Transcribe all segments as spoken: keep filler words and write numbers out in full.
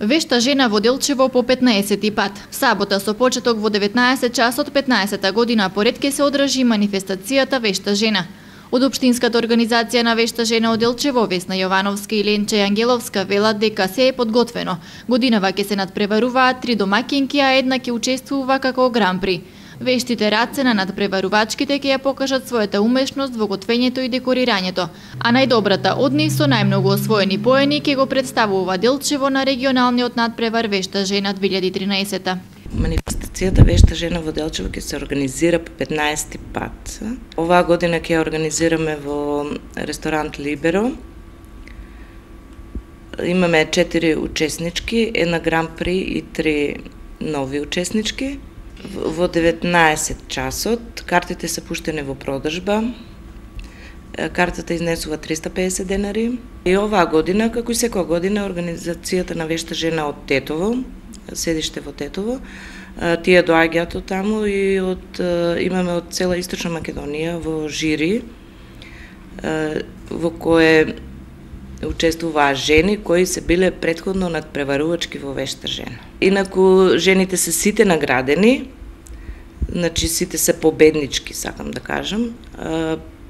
Вешта жена во Делчево по петнаесети пат. Сабота со почеток во деветнаесет часот петнаесета година поред ке се одржи манифестацијата Вешта жена. Од Општинската организација на Вешта жена од Делчево, Весна Јовановска и Ленче Ангеловска велат дека се е подготвено. Годинава ќе се надпреваруваат три домакинки, а една ќе учествува како гран-при. Вештите радце на надпреварувачките ќе ја покажат својата умешност во готвењето и декорирањето, а најдобрата од нив со најмногу освоени поени ќе го представува Делчево на регионалниот надпревар Вешта жена две илјади и тринаесета. Манифестацијата Вешта жена во Делчево ќе се организира по петнаесети пат. Оваа година ќе ја организираме во ресторант Либеро. Имаме четири учеснички, една гран-при и три нови учеснички. Во деветнаесет часот картите се пуштени во продажба. Картата изнесува триста и педесет денари. И оваа година, како и секоја година, организацијата на Вешта жена од Тетово, седиште во Тетово, тие доаѓаат од таму и од, имаме од цела Источна Македонија во жири, во кое учествуваа жени кои се биле претходно надпреварувачки во Вешта жена. Инаку жените се сите наградени, значи сите се победнички, сакам да кажам.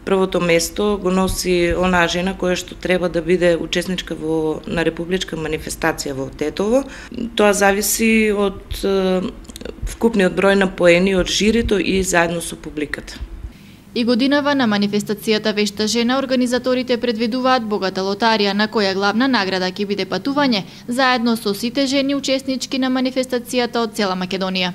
Првото место го носи онаа жена која што треба да биде учесничка во на републичка манифестација во Тетово. Тоа зависи од вкупниот број на поени од жирито и заедно со публиката. И годинава на манифестацијата Вешта жена организаторите предвидуваат богата лотарија на која главна награда ќе биде патување заедно со сите жени учеснички на манифестацијата од цела Македонија.